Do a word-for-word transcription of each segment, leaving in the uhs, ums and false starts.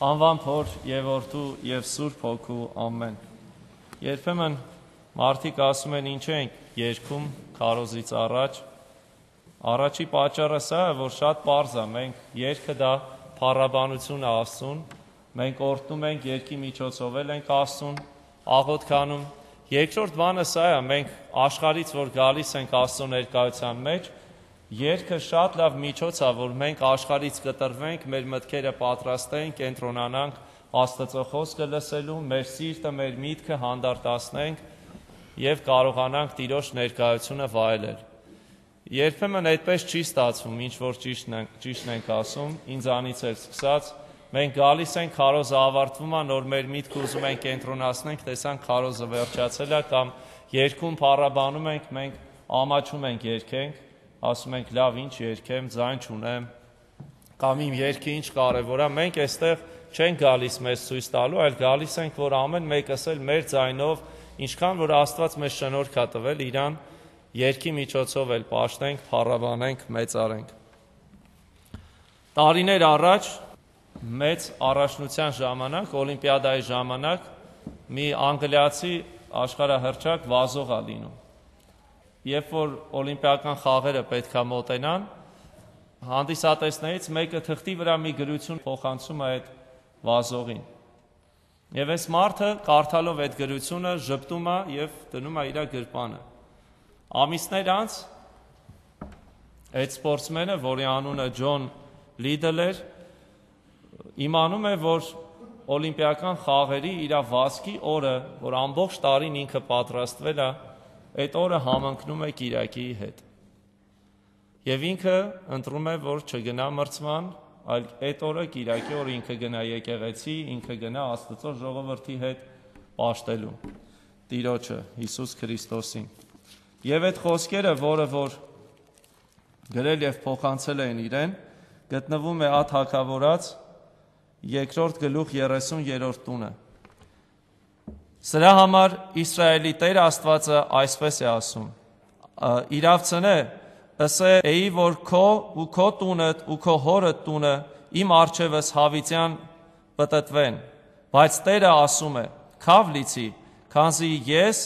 Անվան Փոր եւ Որդու եւ Սուրբ Հոգու ամեն։ Երբեմն մարդիկ ասում են ինչ ենք երգում քարոզից առաջ։ Առաջի պատճառը սա է, որ շատ պարզ է, մենք երգը դա փառաբանություն է Աստծուն, մենք օրհնում ենք երգի միջոցով էլ ենք Աստծուն աղոթքանում։ Երկրորդ բանը սա է, մենք աշխարհից որ գալիս ենք Աստծո ներկայության մեջ, երգը շատ լավ միջոց է, որ մենք աշխարհից կտրվենք, մեր մտքերը պատրաստենք, կենտրոնանանք Աստծո խոսքը լսելու, մեր սիրտը, մեր միտքը հանդարտացնենք եւ կարողանանք Տիրոջ ներկայությունը վայելել։ Երբեմն այդպես չի ստացվում, ինչ որ ճիշտն ենք, ճիշտն ենք ասում, ինձանից էլ սկսած, մենք գալիս ենք, քարոզը ավարտվում է, նոր մեր միտքը ուզում ենք կենտրոնացնենք, տեսանք քարոզը վերջացել է կամ երգում փառաբանում ենք, մենք ամաչում ենք երգենք, ասում ենք լավ ինչ երգեմ, ձայն չունեմ, կամ իմ երգը ինչ կարևոր է, մենք այստեղ չենք գալիս մեզ ցույց տալու, այլ գալիս ենք, որ ամեն մեկս էլ մեր ձայնով, ինչքան որ Աստված մեզ շնորհք է տվել, իրան երգի միջոցով էլ պաշտենք, փառաբանենք, մեծարենք։ Տարիներ առաջ մեծ առաջնության ժամանակ, օլիմպիադայի ժամանակ մի անգլիացի աշխարհահռչակ վազող է լինում։ Երբ որ օլիմպիական խաղերը պետք է մոտենան, հանդիսատեսներից մեկը թղթի վրա մի գրություն փոխանցում է այդ վազողին։ Եվ այս մարդը կարդալով այդ գրությունը ժպտում է եւ դնում է իր գրպանը։ Ամիսներ անց այդ սպորտսմենը, որի անունը Ջոն Լիդլ էր, իմանում է, որ օլիմպիական խաղերի իր վազքի օրը, որ ամբողջ տարին ինքը պատրաստվել է, այդ օրը համընկնում է կիրակի հետ։ Եվ ինքը ընտրում է, որ չգնա մրցման, այլ այդ օրը կիրակի օրը ինքը գնա եկեղեցի, ինքը գնա Աստծո ժողովրդի հետ պաշտելու Տիրոջը, Հիսուս Քրիստոսին։ Եվ այդ խոսքերը, որը որ գրել եւ փոխանցել են իրեն, գտնվում է Ա Թագավորաց երկրորդ գլուխ երեսուներորդ տունը։ Սրա համար Իսրայելի Տեր Աստվածը այսպես է ասում. իրավցնե, ըսե էի, որ քո ու քո տունդ ու քո հորդ տունը իմ առջևս հավիտյան պտտվեն, բայց Տերը ասում է. քավ լիցի, քանզի ես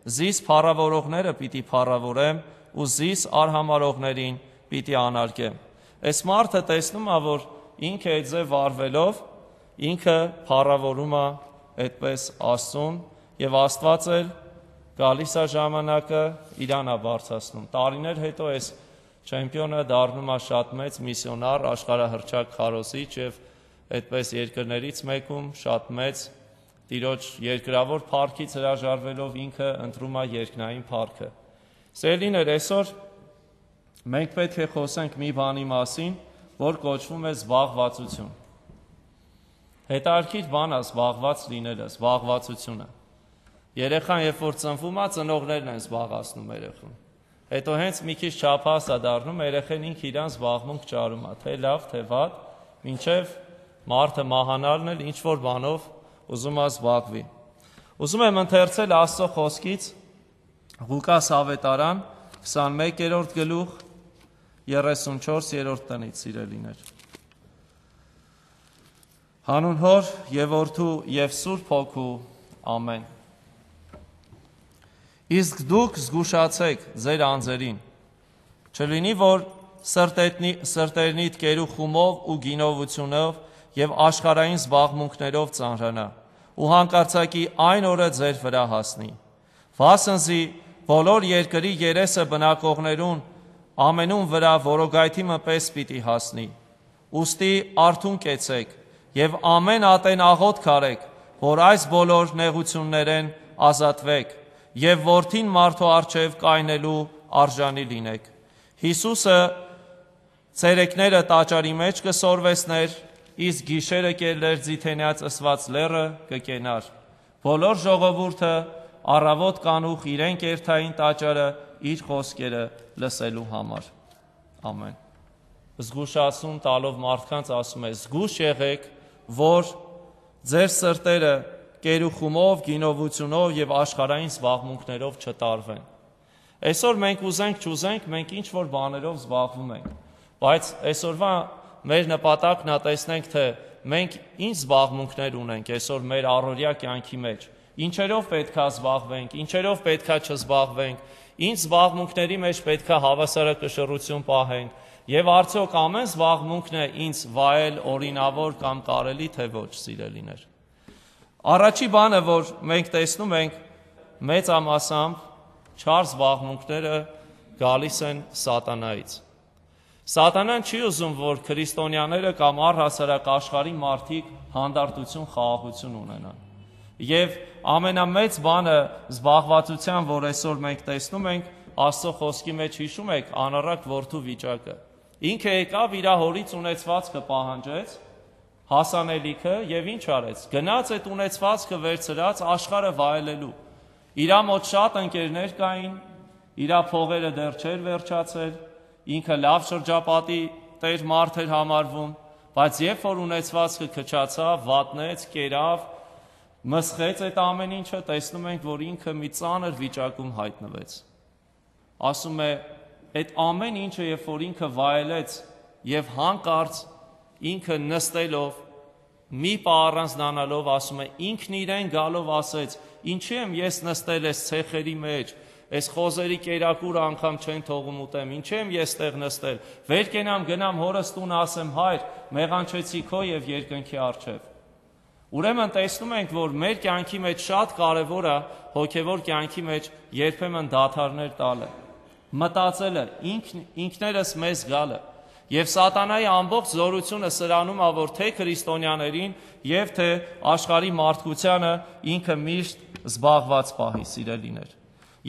զիս փառավորողները պիտի փառավորեմ ու զիս արհամարողներին պիտի անարգեմ։ Այս մարդը տեսնում է, որ ինքը այդ ձև վարվելով, ինքը փառավորում է այդպես Աստծուն եւ Աստված էլ գալիս է ժամանակը իրան է բարձրացնում։ Տարիներ հետո այս չեմպիոնը դառնում է շատ մեծ միսիոնար, աշխարհահռչակ քարոզիչ եւ այդպես երկրներից մեկում շատ մեծ Տիրոջ երկրավոր փառքից հրաժարվելով ինքը ընտրում է երկնային փառքը։ Սիրելիներ, այսօր մենք պետք է խոսենք մի բանի մասին, որ կոչվում է զբաղվածություն։ Հետարքիր բան է զբաղված լինելը, զբաղվածությունը։ Երեխան երբ որ ծնվում է, ծնողներն են զբաղացնում երեխուն։ Հետո հենց մի քիչ չափահաս է դառնում, երեխան ինքը իրան զբաղմունք ճարում է, թե լավ, թե վատ, մինչև մարդը մահանալն էլ ինչ որ բանով ուզում է զբաղվի։ Ուզում եմ ընթերցել Աստծո խոսքից Ղուկաս ավետարան քսանմեկերորդ գլուխ երեսունչորսերորդ տնից, սիրելիներ։ Հանուն Հոր եւ Որդու եւ Սուրբ Հոգու ամեն։ Իսկ դուք զգուշացեք ձեր անձերին, չլինի, որ սրտերնիդ կերու խումով ու գինովությունով եւ աշխարհային զբաղմունքներով ծանրանա, ու հանկարծակի այն օրը ձեր վրա հասնի։ Վասնզի բոլոր երկրի երեսը բնակողներուն ամենուն վրա որոգայթի մպես պիտի հասնի։ Ուստի արթուն կեցեք եւ ամեն ատեն աղոթք արեք, որ այս բոլոր նեղություններեն ազատվեք եւ որդին մարդու առջև կայնելու արժանի լինեք։ Հիսուսը ցերեկները տաճարի մեջ կսորվեսներ, իսկ գիշերը կելներ ձիթենյաց ըսված լեռը կկենար։ Բոլոր ժողովուրդը առավոտ կանուխ իրեն կերթային տաճարը իր խոսքերը լսելու համար։ Ամեն։ Զգուշացում տալով մարդկանց ասում է. զգուշ եղեք, որ ձեր սրտերը կերուխումով, գինովությունով եւ աշխարհային զբաղմունքներով չտարվեն։ Այսօր մենք ուզենք չուզենք, մենք ինչ որ բաներով զբաղվում ենք, բայց այսօրվա մեր նպատակն է տեսնենք, թե մենք ինչ զբաղմունքներ ունենք այսօր մեր առօրյա կյանքի մեջ, ինչերով պետքա զբաղվենք, ինչերով պետքա չզբաղվենք, ինչ զբաղմունքների մեջ պետքա հավասարակշռություն պահենք, եւ արդյոք ամեն զբաղմունքն է ինձ վայել, օրինավոր կամ կարելի թե ոչ, սիրելիներ։ Առաջի բանը, որ մենք տեսնում ենք, մեծամասամբ չար զբաղմունքները գալիս են սատանայից։ Սատանան չի ուզում, որ քրիստոնյաները կամ առհասարակ աշխարհի մարդիկ հանդարտություն, խաղաղություն ունենան։ Եվ ամենամեծ բանը զբաղվածության, որ այսօր մենք տեսնում ենք, Աստծո խոսքի մեջ հիշում եք անառակ որդու վիճակը։ Ինքը եկավ իր հորից ունեցվածքը պահանջեց, հասանելիքը եւ ինչ արեց։ Գնաց այդ ունեցվածքը վերցրած աշխարհը վայելելու։ Իր մոտ շատ ընկերներ կային, իր փողերը դեռ չէր վերջացել, ինքը լավ շրջապատի տեր մարդ էր համարվում, բայց երբ որ ունեցվածքը քչացավ, վատնեց, կերավ, մսխեց այդ ամեն ինչը, տեսնում ենք, որ ինքը մի ծանր վիճակում հայտնվեց։ Ասում է, այդ ամեն ինչը, երբ որ ինքը վայելեց եւ հանկարծ ինքը նստելով, մի պահ առանձնանալով, ասում է, ինքն իրեն գալով ասեց. «Ինչի՞ եմ ես նստել այս ցեխերի մեջ, այս խոզերի կերակուրը անգամ չեն թողում ուտեմ, ինչի՞ եմ ես տեղ նստել, վեր կենամ գնամ հորս տուն ասեմ, հայր, մեղանչեցի քո եւ երկնքի առջև»։ Ուրեմն տեսնում ենք, որ մեր կյանքի մեջ շատ կարևոր է հոգեվոր կյանքի մեջ երբեմն դադարներ տալը, մտածելը, ինքն ինքներս մեզ գալը։ Եվ սատանայի ամբողջ զորությունը սրանում է, որ թե քրիստոնյաներին եւ թե աշխարհի մարդկությանը ինքը միշտ զբաղված պահի, սիրելիներ։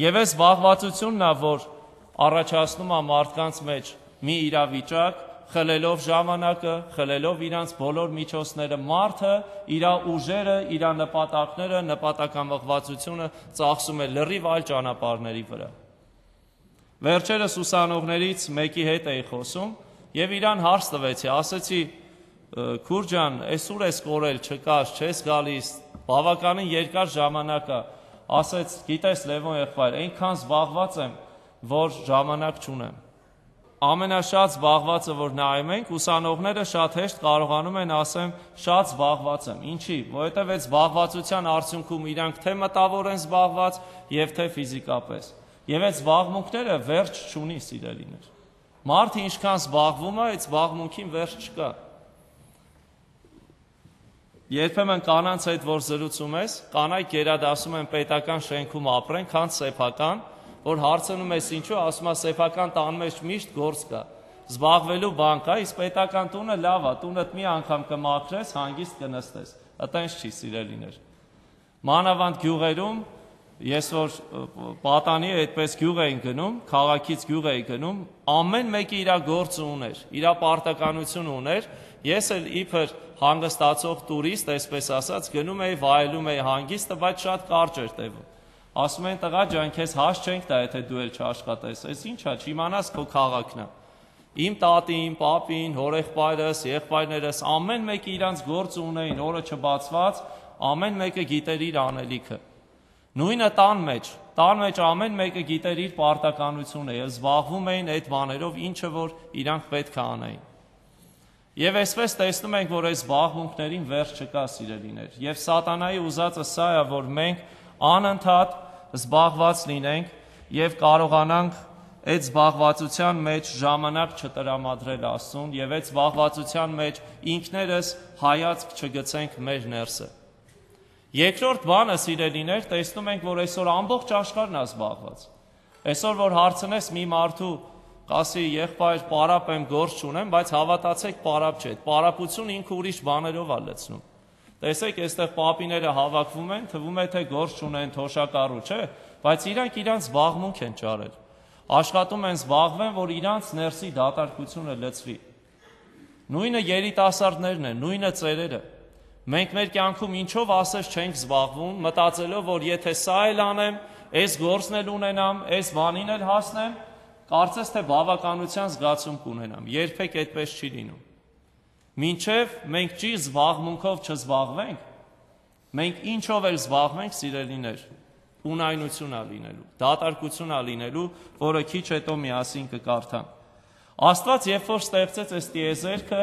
Եվ այս զբաղվածությունն է, որ առաջացնում է մարդկանց մեջ մի իրավիճակ, խլելով ժամանակը, խլելով իրանց բոլոր միջոցները, մարդը իր ուժերը, իր նպատակները, նպատակամղվածությունը ծախսում է լրիվ այլ ճանապարհների վրա։ Վերջերս ուսանողներից մեկի հետ էի խոսում եւ իրան հարց տվեցի, ասեցի. «Քուր ջան, այսուր ես կորել, չկաս, չես գալիս, բավականին երկար ժամանակ է»։ Ասեց. «Գիտես, Լևոն եղբայր, այնքան զբաղված եմ, որ ժամանակ չունեմ»։ Ամենաշատ զբաղվածը, որ նայում ենք, ուսանողները շատ հեշտ կարողանում են ասեմ, շատ զբաղված եմ։ Ինչի՞, որովհետև այդ զբաղվածության արդյունքում իրանք թե մտավոր են զբաղված եւ թե ֆիզիկապես։ Եվ այդ զբաղմունքները վերջ չունի, սիրելիներ։ Մարդը ինչքան զբաղվում է, այդ զբաղմունքին վերջ չկա։ Երբեմն կանանց հետ որ զրուցում ես, կանայք գերադասում են պետական շենքում ապրեն, քան սեփական, որ հարցնում ես ինչու, ասում է սեփական տան մեջ միշտ գործ կա, զբաղվելու բան կա, իսկ պետական տունը լավ է, տունդ մի անգամ կմաքրես, հանգիստ կնստես։ Այտենց չի, սիրելիներ։ Մանավանդ գյուղերում, ես որ պատանի այդպես գյուղ էին գնում, քաղաքից գյուղ էի գնում, ամեն մեկը իր գործը ուներ, իր պարտականություն ուներ, ես էլ իբր հանգստացող տուրիստ, այսպես ասած, գնում էի, վայելում էի հանգիստը, բայց շատ կարճ էր տևում։ Ասում են, տղա ջան, քեզ հաշ չենք տա, եթե դու էլ չաշխատես, այս ի՞նչ է, չիմանաս քո քաղաքն է։ Իմ տատին, պապին, հորեղբայրս, եղբայրներս, ամեն մեկը իրանց գործը ունեին, օրը չբացված, ամեն մեկը գիտեր իր անելիքը։ Նույնը տան մեջ, տան մեջ ամեն մեկը գիտեր իր պարտականությունը եւ զբաղվում էին այդ բաներով, ինչը որ իրանք պետք է անեին։ Եվ այսպես տեսնում ենք, որ այս զբաղմունքներին վերջ չկա, սիրելիներ։ Եվ սատանայի ուզածը սա է, որ մենք անընդհատ զբաղված լինենք եւ կարողանանք այդ զբաղվածության մեջ ժամանակ չտրամադրել Աստծուն եւ այդ զբաղվածության մեջ ինքներս հայացք չգցենք մեր ներսը։ Երկրորդ բանը, սիրելիներ, տեսնում ենք, որ այսօր ամբողջ աշխարհն է զբաղված։ Այսօր որ հարցնես մի մարդու, ասի եղբայր, պարապ եմ, գործ չունեմ, բայց հավատացեք, պարապ չէ, պարապությունը ինքը ուրիշ բաներով է լցնում։ Տեսեք, այստեղ պապիները հավաքվում են, թվում է թե գործ չունեն, թոշակառու, չէ, բայց իրանք իրանց զբաղմունք են ճարել։ Աշխատում են զբաղվեն, որ իրանց ներսի դատարկությունը լցվի։ Նույնը երիտասարդներն են, նույնը ծերերը։ Մենք մեր կյանքում ինչով ասես չենք զբաղվում, մտածելով, որ եթե սա էլ անեմ, այս գործն էլ ունենամ, այս բանին էլ հասնեմ, կարծես թե բավականության զգացում կունենամ։ Երբեք այդպես չի լինում։ Մինչև մենք չի զբաղմունքով չզբաղվենք, մենք ինչով էլ զբաղվենք, սիրելիներ, ունայնություն է լինելու, դատարկություն է լինելու, որը քիչ հետո միասին կկարդամ։ Աստված երբ որ ստեղծեց այս տիեզերքը,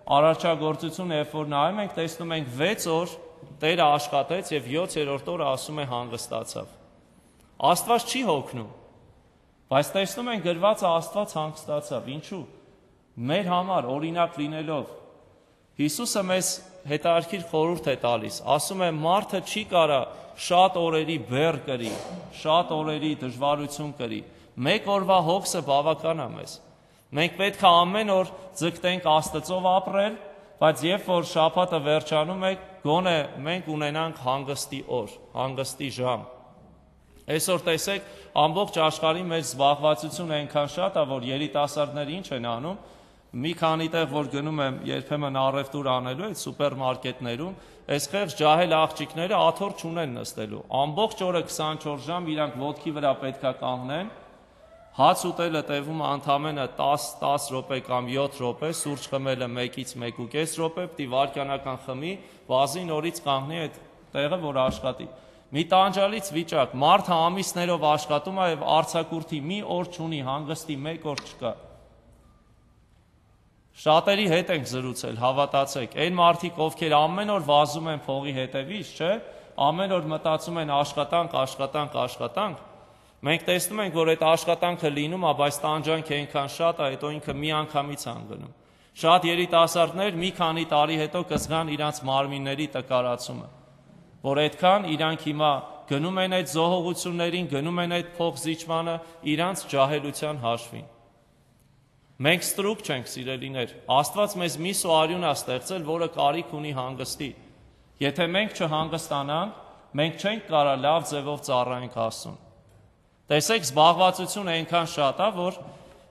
արարչագործությունը, երբ որ նայում ենք, տեսնում ենք վեց օր Տերը աշխատեց եւ յոթերորդ օրը ասում է հանգստացավ։ Աստված չի հոգնում, բայց տեսնում ենք գրված է Աստված հանգստացավ։ Ինչու՞։ Մեր համար օրինակ լինելով Հիսուսը մեզ հետարքիր խորհուրդ է տալիս, ասում է մարդը չի կարա շատ օրերի բեռ կրի, շատ օրերի դժվարություն կրի, մեկ օրվա հոգսը բավական է մեզ։ Մենք պետք է ամեն օր ձգտենք Աստծով ապրել, բայց երբ որ շաբաթը վերջանում է, գոնե մենք ունենանք հանգստի օր, հանգստի ժամ։ Այսօր տեսեք, ամբողջ աշխարհի մեր զբաղվածությունը այնքան շատ է, որ երիտասարդները ինչ են անում, մի քանի տեղ որ գնում եմ երբեմն առևտուր անելու այդ սուպերմարկետներում, այս խեղճ ջահել աղջիկները աթոռ չունեն նստելու։ Ամբողջ օրը քսանչորս ժամ իրանք ոտքի վրա պետքա կանգնեն, հաց ուտելը տևում է ընդամենը տասը րոպե կամ յոթ րոպե, սուրճ խմելը մեկից մեկ ու կես րոպե, պիտի վայրկյանական խմի, բազի նորից կանգնի այդ տեղը, որ աշխատի։ Մի տանջալից վիճակ, մարդը ամիսներով աշխատում է եւ արձակուրդի մի օր չունի, հանգստի մեկ օր չկա։ Շատերի հետ ենք զրուցել, հավատացեք, այն մարդիկ, ովքեր ամեն օր վազում են փողի հետևից, չէ, ամեն օր մտածում են աշխատանք, աշխատանք, աշխատանք, մենք տեսնում ենք, որ այդ աշխատանքը լինում է, բայց տանջանքը այնքան շատ է, հետո ինքը մի անգամից անգնում։ Շատ երիտասարդներ մի քանի տարի հետո կզգան իրանց մարմինների տկարացումը, որ այդքան իրանք հիմա գնում են այդ զոհողություններին, գնում են այդ փոխզիջմանը իրանց ջահելության հաշվին։ Մենք ստրուկ չենք, սիրելիներ, Աստված մեզ մի սոարյուն է ստեղծել, որը կարիք ունի հանգստի։ Եթե մենք չհանգստանանք, մենք չենք կարա լավ ձևով ծառայենք Աստծուն։ Տեսեք, զբաղվածությունը այնքան շատ է, որ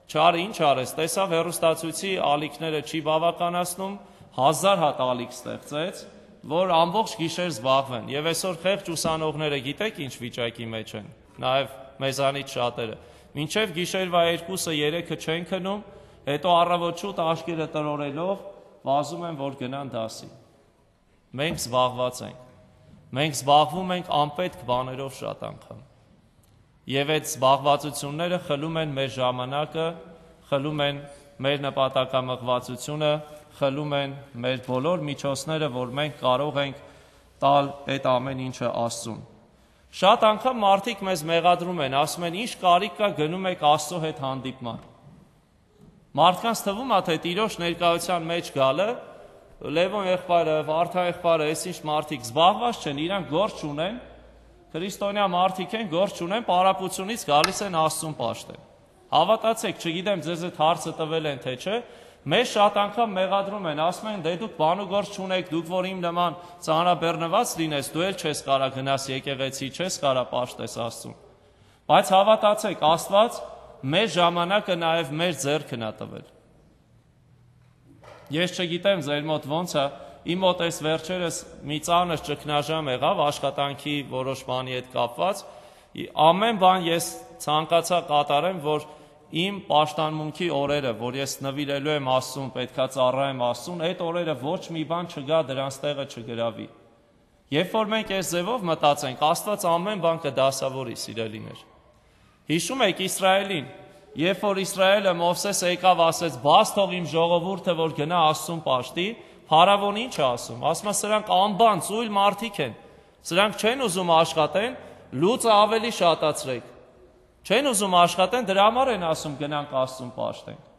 չարը ինչ արես, տեսավ հեռուստացույցի ալիքները չի բավականացնում, հազար հատ ալիք ստեղծեց, որ ամբողջ գիշեր զբաղվեն։ Եվ այսօր խեղճ ուսանողները գիտեք ինչ վիճակի մեջ են, նաև մեզանից շատերը։ Մինչև գիշերվա երկուսը երեքը չեն քնում, հետո առավոտ շուտ աշկերը տրորելով վազում են, որ գնան դասի։ Մենք զբաղված ենք։ Մենք զբաղվում ենք անպետք բաներով շատ անգամ։ Եվ այդ զբաղվածությունները խլում են մեր ժամանակը, խլում են մեր նպատակամղվածությունը, խլում են մեր բոլոր միջոցները, որ մենք կարող ենք տալ այդ ամեն ինչը Աստծուն։ Շատ անգամ մարդիկ մեզ մեղադրում են, ասում են, ինչ կարիք կա գնում եք Աստծո հետ հանդիպման։ Մարդկանց թվում է, թե Տիրոջ ներկայության մեջ գալը, Լևոն եղբայրը, Վարդա եղբայրը, այսինչ մարդիկ զբաղված չեն, իրանք գործ չունեն, քրիստոնյա մարդիկ են, գործ չունեն, պարապությունից գալիս են Աստծուն պաշտեն։ Հավատացեք, չգիտեմ ձեզ այդ հարցը տվել են թե չէ, մեզ շատ անգամ մեղադրում են, ասում են, դե դուք բան ու գործ չունեք, դուք որ իմ նման ծանրաբեռնված լինես, դու էլ չես կարա գնաս եկեղեցի, չես կարա պաշտես Աստծուն։ Բայց հավատացեք, Աստված մեր ժամանակը նաև մեր ձեռքն է տվել։ Ես չգիտեմ ձեր մոտ ոնց է, իմ մոտ այս վերջերս մի ծանր ճգնաժամ եղավ աշխատանքի որոշ բանի հետ կապված, ամեն բան ես ցանկացա կատարեմ, որ իմ պաշտամունքի օրերը, որ ես նվիրելու եմ Աստծուն, պետքա ծառայեմ Աստծուն, այդ օրերը ոչ մի բան չգա, դրանց տեղը չգրավի։ Երբ որ մենք այս ձևով մտածենք, Աստված ամեն բան կդասավորի, սիրելիներ։ Հիշում եք Իսրայելին, երբ որ Իսրայելը Մովսեսը եկավ ասեց, բաց թող իմ ժողովուրդը, որ գնա Աստծուն պաշտի, Փարավոնը ինչ է ասում, ասում է սրանք անբան, ծույլ մարդիկ են, սրանք չեն ուզում աշխատեն, լուծը ավելի շատացրեք, չեն ուզում աշխատեն, դրա համար են ասում գնանք Աստծուն պաշտենք։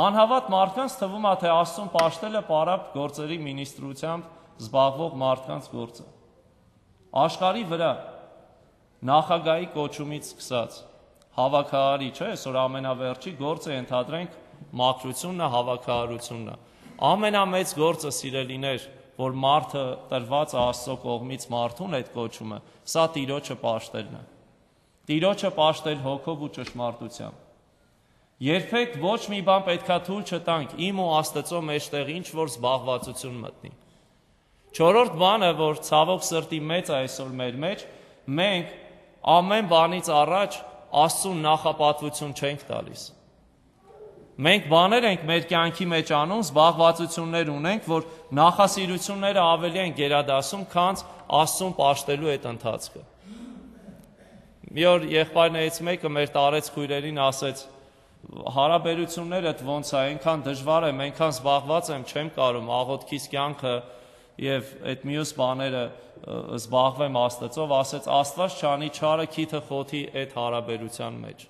Անհավատ մարդկանց թվում է, թե Աստծուն պաշտելը պարապ գործերի մինիստրությամբ զբաղվող մարդկանց գործը։ Աշխարհի վրա նախագահի կոչումից սկսած հավաքարարի, չէ, այսօր ամենավերջի գործը ընդհանրենք մաքրությունն է, հավաքարարությունն է։ Ամենամեծ գործը, սիրելիներ, որ մարդը տրված Աստծո կողմից մարդուն այդ կոչումը, սա Տիրոջը պաշտելն է։ Տիրոջը պաշտել հոգով ու ճշմարտությամբ։ Երբեք ոչ մի բան պետքա թույլ չտանք իմ ու Աստծո մեջտեղ ինչ որ զբաղվածություն մտնի։ Չորրորդ բանը, որ ցավոք սրտի մեծ է այսօր մեր մեջ, մենք ամեն բանից առաջ Աստծուն նախապատվություն չենք տալիս։ Մենք բաներ ենք մեր կյանքի մեջ անում, զբաղվածություններ ունենք, որ նախասիրությունները ավելի են գերադասում, քան Աստծուն պաշտելու այդ ընթացքը։ Մի օր եղբայրներից մեկը մեր տարեց քույրերին ասեց, հարաբերություններդ ոնց է, այնքան դժվար եմ, այնքան զբաղված եմ, չեմ կարում աղոթքիս կյանքը եւ այդ մյուս բաները զբաղվեմ Աստծով, ասեց Աստված չանի չարը քիթը խոթի այդ հարաբերության մեջ։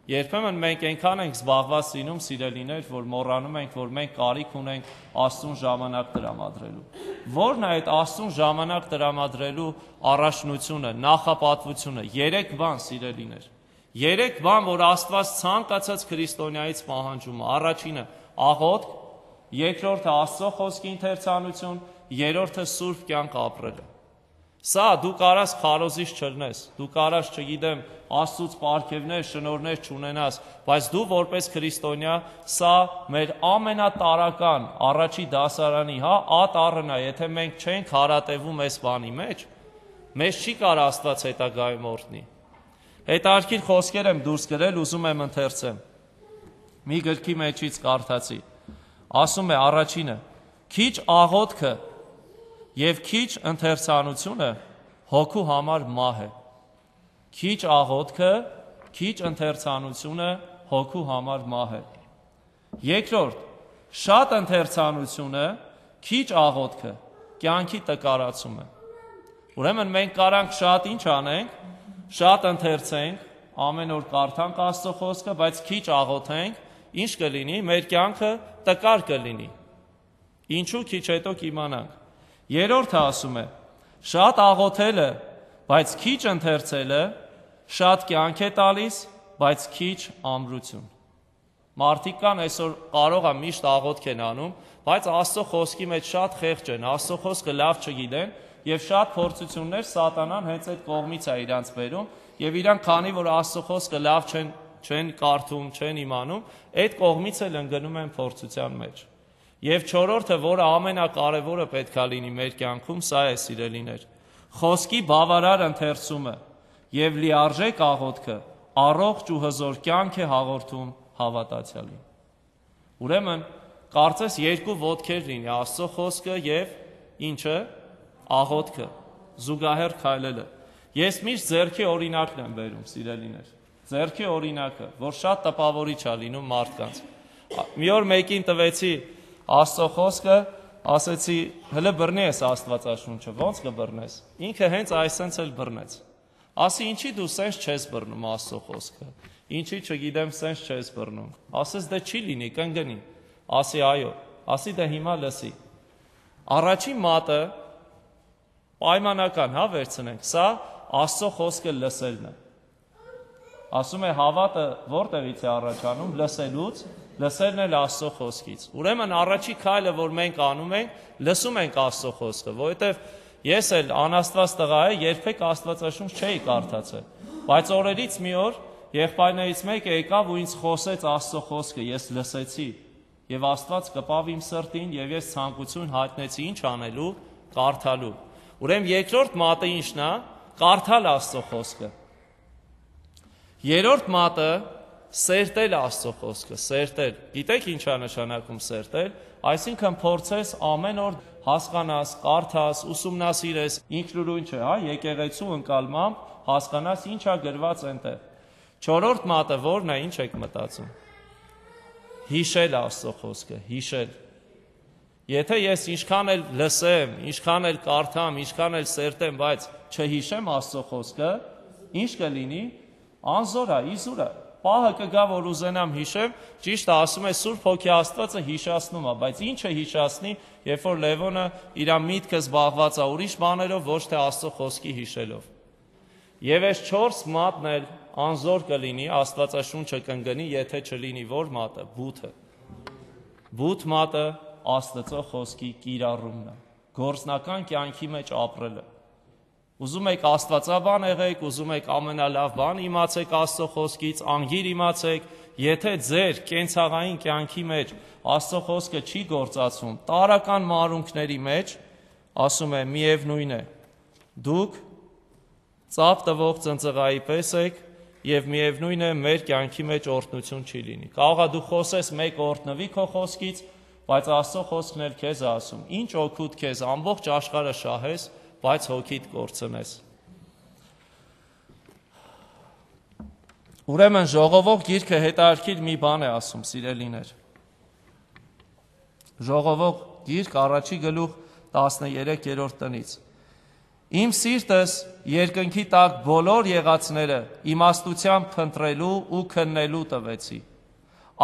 Երբեմն մենք այնքան ենք զբաղված լինում, սիրելիներ, որ մոռանում ենք, որ մենք կարիք ունենք Աստծուն ժամանակ տրամադրելու։ Որն է այդ Աստծուն ժամանակ տրամադրելու առաջնությունը, նախապատվությունը։ Երեք բան, սիրելիներ։ Երեք բան, որ Աստված ցանկացած քրիստոնյայից պահանջում է։ Առաջինը աղոթք, երկրորդը Աստծո խոսքի ընթերցանություն, երրորդը սուրբ կյանք ապրելը։ Սա դու կարաս քարոզիչ չլնես, դու կարաս, չգիտեմ, Աստծուց պարգևներ, շնորհներ չունենաս, բայց դու որպես քրիստոնյա, սա մեր ամենատարական առաջի դասարանի, հա, ատառն է, եթե մենք չենք հարատևում այս բանի մեջ, մեզ չի կար Աստված հետագայում օրհնի։ Հետարքիր խոսքեր եմ դուրս գրել, ուզում եմ ընթերցեմ։ Մի գրքի մեջից կարդացի։ Ասում է առաջինը. քիչ աղոթքը եւ քիչ ընթերցանությունը հոգու համար մահ է։ Քիչ աղոթքը, քիչ ընթերցանությունը հոգու համար մահ է։ Երկրորդ, շատ ընթերցանությունը, քիչ աղոթքը կյանքի տկարացում է։ Ուրեմն մենք կարանք շատ ինչ անենք, շատ ընթերցենք, ամեն օր կարդանք Աստծո խոսքը, բայց քիչ աղոթենք, ինչ կլինի, մեր կյանքը տկար կլինի։ Ինչու քիչ հետո կիմանանք։ Երրորդը ասում է. շատ աղոթելը, բայց քիչ ընթերցելը, շատ կյանք է տալիս, բայց քիչ ամրություն։ Մարդիկ կան այսօր կարող է միշտ աղոթք են անում, բայց Աստծո խոսքի մեջ շատ խեղճ են, Աստծո խոսքը լավ չգիտեն, եւ շատ փորձություններ սատանան հենց այդ կողմից է իրանց բերում, եւ իրանք քանի որ Աստծո խոսքը լավ չեն չեն կարդում, չեն իմանում, այդ կողմից էլ ընկնում են փորձության մեջ։ Եվ չորրորդը, որը ամենակարևորը պետք է լինի մեր կյանքում, սա է, սիրելիներ։ Խոսքի բավարար ընթերցումը եւ լիարժեք աղոթքը առողջ ու հզոր կյանք է հաղորդում հավատացյալին։ Ուրեմն, կարծես երկու ոտքեր լինի Աստծո խոսքը եւ ինչը, աղոթքը, զուգահեռ քայլելը։ Ես միշտ ձեռքի օրինակն եմ բերում, սիրելիներ։ Ձեռքի օրինակը, որ շատ տպավորիչ է լինում մարդկանց։ Մի օր մեկին տվեցի Աստծո խոսքը, ասեցի, հələ բռնի ես Աստվածաշունչը, ո՞նց կբռնես։ Ինքը հենց այսպես էլ բռնեց։ Ասի, ինչի դու սենց չես բռնում Աստծո խոսքը։ Ինչի, չգիտեմ, սենց չես բռնում։ Ասես դե չի լինի, կընկնի։ Ասի, այո։ Ասի, դե հիմա լսի։ Առաջին մատը պայմանական, հա, վերցնենք։ Սա Աստծո խոսքը լսելն է։ Ասում է հավատը որտեղից է առաջանում, լսելուց, լսելն էլ Աստծո խոսքից։ Ուրեմն առաջի քայլը, որ մենք անում ենք, լսում ենք Աստծո խոսքը, որովհետև ես էլ անաստված տղա եմ, երբեք Աստվածաշունչ չէի կարդացել, բայց օրերից մի օր եղբայրներից մեկը եկավ ու ինձ խոսեց Աստծո խոսքը, ես լսեցի, եւ Աստված կպավ իմ սրտին, եւ ես ցանկություն հայտնեցի ինչ անելու, կարդալու։ Ուրեմն երկրորդ մատը ինչն է, կարդալ Աստծո խոսքը։ Երրորդ մատը սերտել Աստծո խոսքը, սերտել։ Գիտեք ինչ է նշանակում սերտել, այսինքն փորձես ամեն օր հասկանաս, կարդաս, ուսումնասիրես, ինքնուրույն չէ, հա, եկեղեցու ընկալմամբ հասկանաս ինչ է գրված այնտեղ։ Չորրորդ մատը որն է, ինչ եք մտածում։ Հիշել Աստծո խոսքը, հիշել։ Եթե ես ինչքան էլ լսեմ, ինչքան էլ կարդամ, ինչքան էլ սերտեմ, բայց չհիշեմ Աստծո խոսքը, ինչ կլինի, անզոր է, իզուր է։ Պահը կգա, որ ուզենամ հիշեմ, ճիշտ է, ասում է Սուրբ Հոգի Աստվածը հիշացնում է, բայց ինչը հիշացնի, երբ որ Լևոնը իր միտքը զբաղված է ուրիշ բաներով, ոչ թե Աստծո խոսքի հիշելով։ Եվ այս չորս մատն էլ անզոր կլինի, Աստվածաշունչը կընկնի, եթե չլինի որ մատը, բութը։ Բութ մատը Աստծո խոսքի կիրառումն է, գործնական կյանքի մեջ ապրելը։ Ուզում եք աստվածաբան եղեք, ուզում եք ամենալավ բան իմացեք Աստծո խոսքից, անգիր իմացեք, եթե ձեր կենցաղային կյանքի մեջ Աստծո խոսքը չի գործածվում, տարական մարունքների մեջ, ասում է, միևնույն է, դուք ծավ տվող ծնծղայի պես եք եւ միևնույն է մեր կյանքի մեջ օրհնություն չի լինի։ Կարող է դու խոսես մեկ օրհնվի քո խոսքից, բայց Աստծո խոսքն էլ քեզ է ասում, ինչ օգուտ քեզ ամբողջ աշխարհը շահես, բայց հոգիդ կորցնես։ Ուրեմն ժողովող գիրքը հետաքրքիր մի բան է ասում, սիրելիներ։ Ժողովող գիրք առաջի գլուխ տասներեքերորդ տնից։ Իմ սիրտս երկնքի տակ բոլոր եղածները իմաստությամբ փնտրելու ու քննելու տվեցի։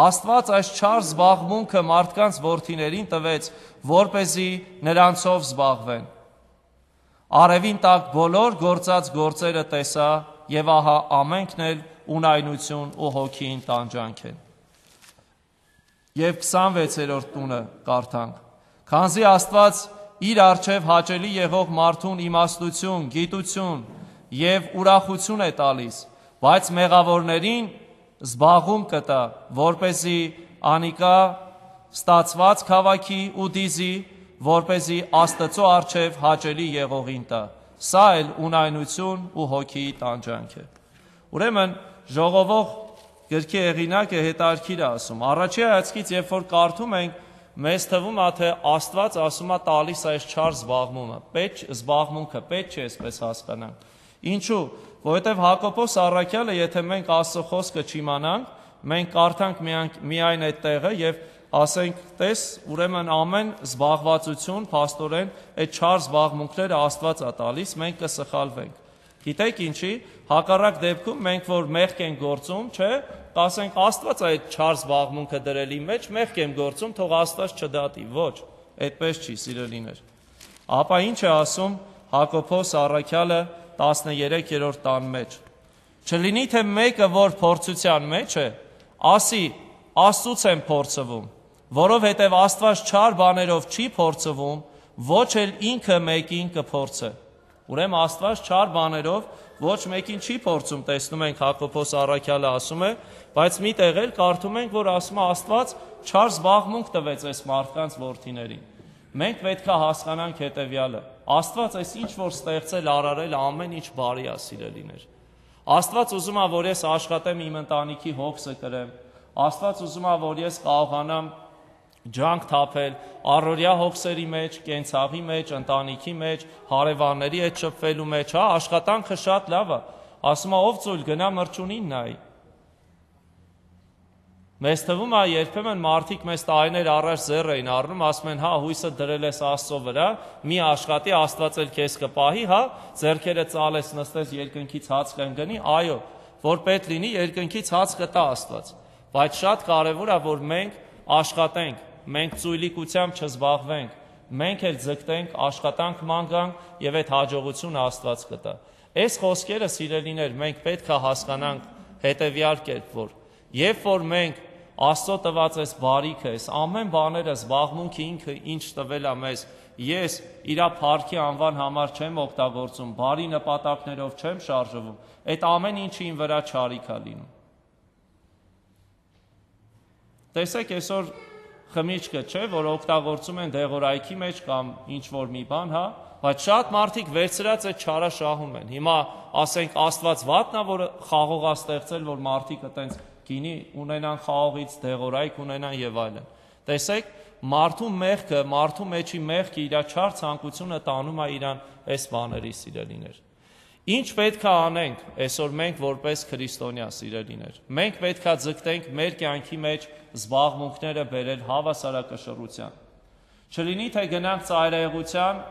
Աստված այս չար զբաղմունքը մարդկանց որդիներին տվեց, որպեսզի նրանցով զբաղվեն։ Արևին տակ բոլոր գործած գործերը տեսա, եւ ահա ամենքն էլ ունայնություն ու հոգին տանջանք են։ Եվ քսանվեցերորդ տունը կարդանք. Քանզի Աստված իր առջև հաճելի եղող մարդուն իմաստություն, գիտություն եւ ուրախություն է տալիս, բայց մեղավորներին զբաղում կտա, որպեսզի անիկա ստացված քաղաքի ու դիզի, որպեսզի Աստծո առջև հաճելի եղողին տա։ Սա էլ ունայնություն ու հոգիի տանջանք է։ Ուրեմն ժողովող գրքի հեղինակը հետաքրքիր է ասում։ Առաջի հայացքից, երբ որ կարդում ենք, մեզ թվում է, թե Աստված ասում է տալիս այս չար զբաղմունքը, պետք զբաղմունքը, պետք չէ այսպես հասկանանք։ Ինչու՞, որովհետև Հակոբոս առաքյալը, եթե մենք Աստծո խոսքը չիմանանք, մենք կարդանք միայն այդ տեղը եւ ասենք, տես, ուրեմն ամեն զբաղվածություն, փաստորեն, այդ չար զբաղմունքները Աստված է տալիս, մենք կսխալվենք։ Գիտեք ինչի, հակառակ դեպքում մենք որ մեղք ենք գործում, չէ, ասենք Աստված այդ չար զբաղմունքը դրելի մեջ, մեղք եմ գործում, թող Աստված չդատի, ոչ, այդպես չի, սիրելիներ։ Ապա ինչ է ասում Հակոբոս առաքյալը տասներեքերորդ տան մեջ։ Չլինի թե մեկը, որ փորձության մեջ է, ասի, Աստծուց եմ փորձվում, որովհետև Աստված չար բաներով չի փորձվում, ոչ էլ ինքը մեկին կփորձե։ Ուրեմն Աստված չար բաներով ոչ մեկին չի փորձում, տեսնում ենք Հակոբոս առաքյալը ասում է, բայց մի տեղ էլ կարդում ենք, որ ասում է Աստված չար զբաղմունք տվեց այս մարդկանց որդիներին։ Մենք պետք է հասկանանք հետևյալը. Աստված այս ինչ որ ստեղծել, արարել, ամեն ինչ բարի է, սիրելիներ։ Աստված ուզում է, որ ես աշխատեմ իմ ընտանիքի հոգսը կրեմ։ Աստված ուզում է, որ ես կարողանամ ջանք թափել առօրյա հոգսերի մեջ, կենցաղի մեջ, ընտանիքի մեջ, հարևանների հետ շփվելու մեջ, հա, աշխատանքը շատ լավ է։ Ասում է, ով ծույլ գնա մրջունին նայի։ Մեզ թվում է երբեմն մարդիկ մեզ տարիներ առաջ ձեռ էին առնում, ասում են, հա, հույսը դրել ես Աստծո վրա, մի աշխատի, Աստված էլ քեզ կպահի, հա, ձեռքերը ծալես, նստես երկնքից հաց կընկնի, այո, որ պետք լինի երկնքից հաց կտա Աստված։ Բայց շատ կարևոր է, որ մենք աշխատենք, մենք ծույլիկությամբ չզբաղվենք, մենք էլ ձգտենք, աշխատանք մանգանք եւ այդ հաջողությունը Աստված կտա։ Այս խոսքերը, սիրելիներ, մենք պետք է հասկանանք հետեւյալ կերպ, որ երբ որ մենք Աստծո տված այս բարիքը, այս ամեն բաները, զբաղմունքը ինքը ինչ տվել է մեզ, ես իրա փառքի անվան համար չեմ օգտագործում, բարի նպատակներով չեմ շարժվում, այդ ամեն ինչը իմ վրա չարիք է լինում։ Տեսեք, այսօր խմիչքը չէ, որ օգտագործում են դեղորայքի մեջ կամ ինչ-որ մի բան, հա, բայց շատ մարդիկ վերցրած այդ չարը շահում են։ Հիմա ասենք Աստված վատնա, որ խաղող է ստեղծել, որ մարդիկ այտենց գինի ունենան խաղողից, դեղորայք ունենան եւ այլն։ Տեսեք, մարդու մեղքը, մարդու մեջի մեղքը իր չար ցանկությունը տանում է իրան այս բաների, սիրելիներ։ Ինչ պետք է անենք այսօր մենք որպես քրիստոնյա, սիրելիներ։ Մենք պետք է ձգտենք մեր կյանքի մեջ զբաղմունքները բերել հավասարակշռության։ Չլինի թե գնանք ծայրահեղության,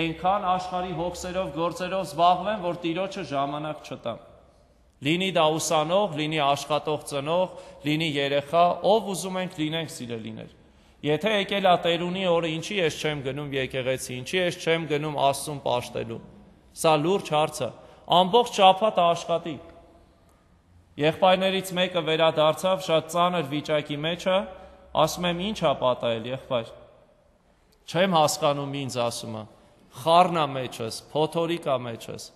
այնքան աշխարհի հոգսերով, գործերով զբաղվեն, որ Տիրոջը ժամանակ չտան։ Լինի դա ուսանող, լինի աշխատող ծնող, լինի երեխա, ով ուզում ենք լինենք, սիրելիներ։ Եթե եկել է Տերունի օրը, ինչի ես չեմ գնում եկեղեցի, ինչի ես չեմ գնում Աստծուն պաշտելու։ Սա լուրջ հարց է։ Ամբողջ շաբաթը աշխատի։ Եղբայրներից մեկը վերադարձավ, շատ ծանր վիճակի մեջ է, ասում եմ, ինչ ա պատահել, եղբայր։ Չեմ հասկանում ինձ, ասում է, խառնա մեջս, փոթորիկա մեջս։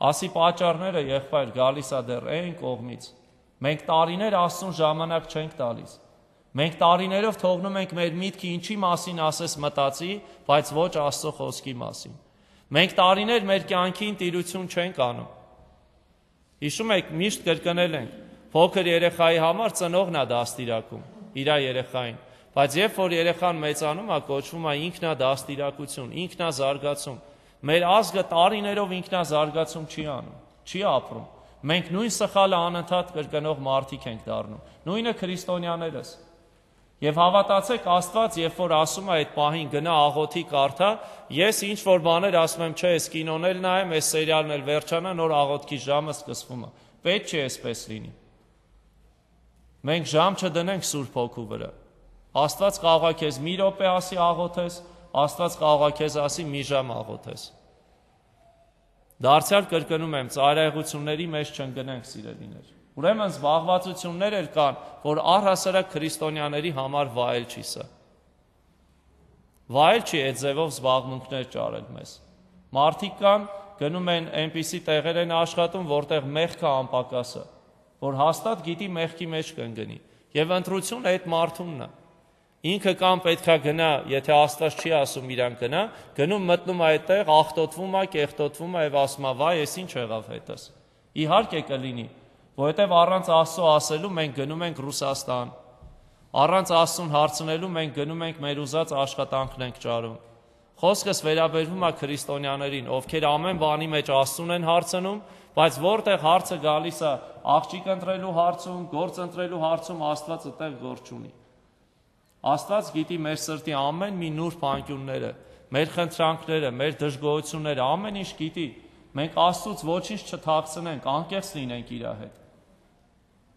Ասի պատճառները, եղբայր, գալիս է դեռ այն կողմից։ Մենք տարիներ Աստծուն ժամանակ չենք տալիս։ Մենք տարիներով թողնում ենք մեր միտքը ինչի մասին ասես մտածի, բայց ոչ Աստծո խոսքի մասին։ Մենք տարիներ մեր կյանքին տիրություն չենք անում։ Հիշում եք, միշտ կրկնել ենք, փոքր երեխայի համար ծնողն է դաստիարակում իր երեխային, բայց երբ որ երեխան մեծանում է, կոչվում է ինքնադաստիարակություն, ինքնազարգացում։ Մեր ազգը տարիներով ինքնազարգացում չի անում, չի ապրում։ Մենք նույն սխալը անընդհատ կրկնող մարդիկ ենք դառնում։ Նույնը քրիստոնյաներս։ Եվ հավատացեք, Աստված, երբ որ ասում է այդ պահին գնա աղոթի կարդա, ես ինչ որ բաներ ասում եմ, չէ, այս կինոն էլ նայեմ, այս սերիալն էլ վերջանա, նոր աղոթքի ժամը սկսվում է։ Պետք չէ այսպես լինի։ Մենք ժամ չդնենք Սուրբ Հոգու վրա։ Աստված կարող է քեզ մի րոպե ասի աղոթես, Աստված կարող է քեզ ասի մի ժամ աղոթես։ Դարձյալ կրկնում եմ, ծայրահեղությունների մեջ չընկնենք, սիրելիներ։ Ուրեմն զբաղվածություններ էլ կան, որ առհասարակ քրիստոնյաների համար վայել չի սա։ Վայել չի այդ ձևով զբաղմունքներ ճարել մեզ։ Մարդիկ կան, գնում են այնպիսի տեղեր են աշխատում, որտեղ մեղքը անպակաս է, որ հաստատ գիտի մեղքի մեջ կընկնի։ Եվ ընտրությունը այդ մարդունն է։ Ինքը կամ պետքա գնա, եթե Աստված չի ասում իրան գնա, գնում մտնում այդտեղ, աղտոտվում է, կեղտոտվում է եւ ասում է՝ «Վայ, ես ինչ եղավ հետս»։ Իհարկե կլինի, որովհետեւ առանց Աստծո ասելու մենք գնում ենք Ռուսաստան։ Առանց Աստծուն հարցնելու մենք գնում ենք մեր ուզած աշխատանքն ենք ճարում։ Խոսքս վերաբերվում է քրիստոնյաներին, ովքեր ամեն բանի մեջ Աստծուն են հարցնում, բայց որտեղ հարցը գալիս է աղջիկ ընտրելու հարցում, գործ ընտրելու հարցում, Աստված այդտեղ գործ չունի։ Աստված գիտի մեր սրտի ամեն մի նուրբ անկյունները, մեր խնդրանքները, մեր դժգոհությունները, ամեն ինչ գիտի։ Մենք Աստծուց ոչինչ չթաքցնենք, անկեղծ լինենք իր հետ։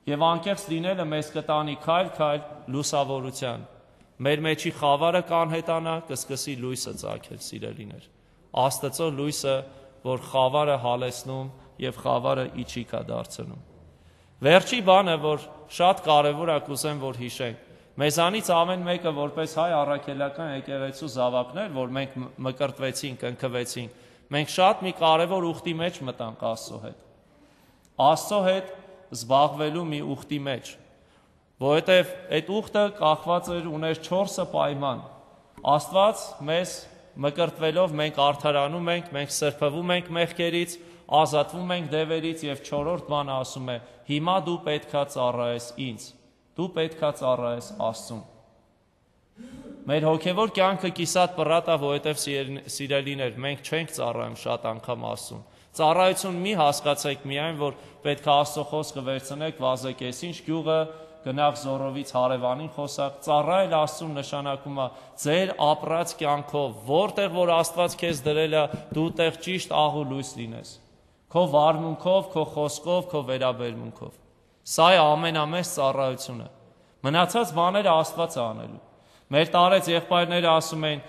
Եվ անկեղծ լինելը մեզ կտանի քայլ-քայլ լուսավորության։ Մեր մեջի խավարը կանհետանա, կսկսի լույսը ծագել, սիրելիներ։ Աստծո լույսը, որ խավարը հալեցնում եւ խավարը իջիկ է դարձնում։ Վերջի բանը, որ շատ կարեւոր է, կուզեմ, որ հիշենք։ Մեզանից ամեն մեկը որպես հայ առաքելական եկեղեցու զավակներ, որ մենք մկրտվեցինք, ընկվեցինք, մենք շատ մի կարևոր ուխտի մեջ մտանք Աստծո հետ։ Աստծո հետ զբաղվելու մի ուխտի մեջ, որովհետև այդ ուխտը կախված էր ուներ չորսը պայման։ Աստված մեզ մկրտվելով մենք արդարանում ենք, մենք սրբվում ենք մեղքերից, ազատվում ենք դևերից եւ չորրորդ բանը ասում է՝ հիմա դու պետքա ծառայես ինձ, դու պետքա ծառայես Աստծուն։ Մեր հոգևոր կյանքը կիսատ պռատ է, որովհետև սիրելիներ, մենք չենք ծառայում շատ անգամ Աստծուն։ Ծառայություն մի հասկացեք միայն, որ պետք է Աստծո խոսքը վերցնեք Վազեկեսինչ գյուղը, գնաք Զորովից հարևանին խոսակ, ծառայել Աստծուն նշանակում է ձեր ապրած կյանքով, որտեղ որ Աստված քեզ դրել է, դու տեղ ճիշտ աղ ու լույս լինես։ Քո վարմունքով, քո խոսքով, քո վերաբերմունքով։ Սա է ամենամեծ ծառայությունը։ Մնացած բաները Աստված է անելու։ Մեր տարեց եղբայրները ասում են,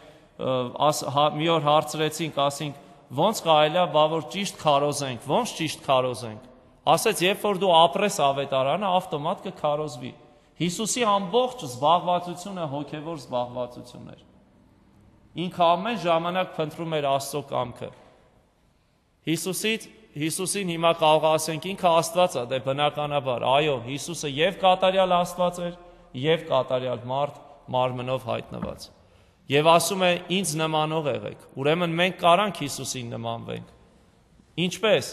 մի օր հարցրեցինք, ասինք, ոնց կարելի է, բա որ ճիշտ քարոզենք, ոնց ճիշտ քարոզենք։ Ասեց, երբ որ դու ապրես ավետարանը, ավտոմատ կքարոզվի։ Հիսուսի ամբողջ զբաղվածությունը հոգևոր զբաղվածություն էր։ Ինքը ամեն ժամանակ փնտրում էր Աստծո կամքը։ Հիսուսից Հիսուսին հիմա կարող ասենք ինքը Աստված է, դե բնականաբար, այո, Հիսուսը եւ կատարյալ Աստված էր, եւ կատարյալ մարդ, մարմնով հայտնված։ Եվ ասում է, ինձ նմանող եղեք։ Ուրեմն մենք կարանք Հիսուսին նմանվենք։ Ինչպես,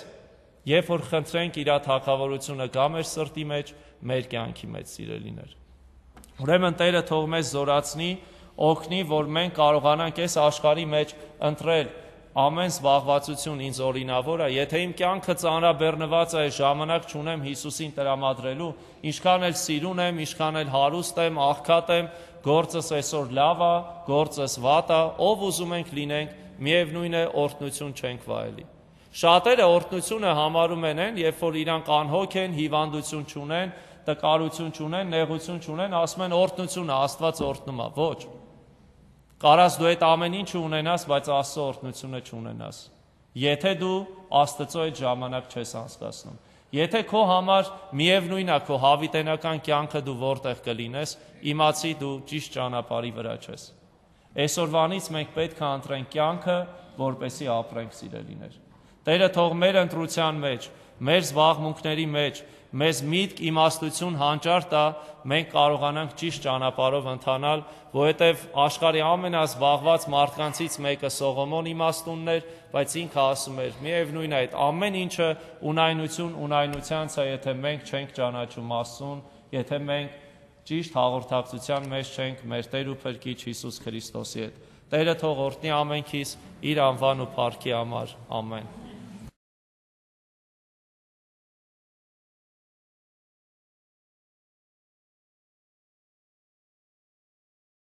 երբ որ խնդրենք իր թագավորությունը գա մեր սրտի մեջ, մեր կյանքի մեջ, սիրելիներ։ Ուրեմն Տերը թող մեզ զորացնի, օգնի, որ մենք կարողանանք այս աշխարհի մեջ ընտրել ամեն զբաղվածություն ինձ օրինավոր է, եթե իմ կյանքը ծանրաբեռնված է, ժամանակ չունեմ Հիսուսին տրամադրելու, ինչքան էլ սիրուն եմ, ինչքան էլ հարուստ եմ, աղքատ եմ, գործս այսօր լավ է, գործս վատ է, ով ուզում ենք լինենք, միևնույն է օրհնություն չենք վայելի։ Շատերը օրհնությունը համարում են են, երբ որ իրանք անհոգ են, հիվանդություն չունեն, տկարություն չունեն, նեղություն չունեն, ասում են օրհնությունը, Աստված օրհնում է, ոչ։ Կարաս դու այդ ամեն ինչը ունենաս, բայց Աստծո օրհնությունը չունենաս։ Եթե դու Աստծո այդ ժամանակ չես անցկացնում։ Եթե քո համար միևնույն է քո հավիտենական կյանքը դու որտեղ կլինես, իմացի դու ճիշտ ճանապարհի վրա ես։ Այսօրվանից մենք պետք է ընտրենք կյանքը, որպեսզի ապրենք, սիրելիներ։ Տերը թող մեր ընտրության մեջ, մեր զբաղմունքների մեջ մեզ միտք, իմաստություն, հանճար տա, մենք կարողանանք ճիշտ ճանապարհով ընթանալ, որովհետև աշխարհի ամենազբաղված մարդկանցից մեկը Սողոմոն իմաստունն էր, բայց ինքը ասում էր՝ միևնույն է, այդ ամեն ինչը ունայնություն ունայնությանց է, եթե մենք չենք ճանաչում Աստծուն, եթե մենք ճիշտ հաղորդակցության մեջ չենք մեր Տեր ու Փրկիչ Հիսուս Քրիստոսի հետ։ Տերը թող օրհնի ամենքիս իր անվան ու փառքի համար։ Ամեն։